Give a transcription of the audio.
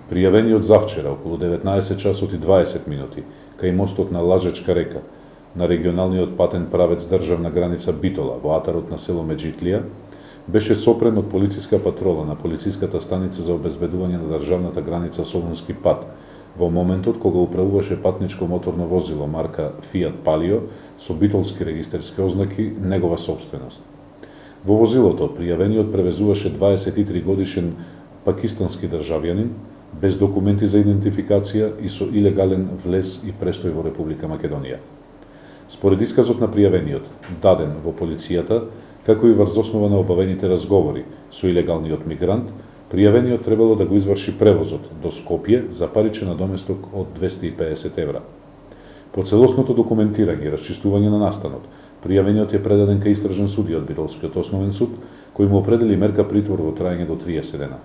Пријавениот завчера околу 19 часот и 20 минути кај мостот на Лажечка река на регионалниот патен правец државна граница Битола во атарот на село Меджитлија беше сопрен од полициска патрола на полициската станица за обезбедување на државната граница Солунски пат во моментот кога управуваше патничко моторно возило марка Fiat Palio со битолски регистерски ознаки негова сопственост. Во возилото пријавениот превезуваше 23 годишен пакистански државјанин без документи за идентификација и со илегален влез и престој во Република Македонија. Според исказот на пријавениот, даден во полицијата, како и врз основа на обавените разговори со илегалниот мигрант, пријавениот требало да го изврши превозот до Скопје за паричен надоместок од 250 евра. По целосното документирање и расчистување на настанот, пријавениот е предаден кај истражен судија од Битолскиот основен суд, кој му определи мерка притвор во траење до 30 дена.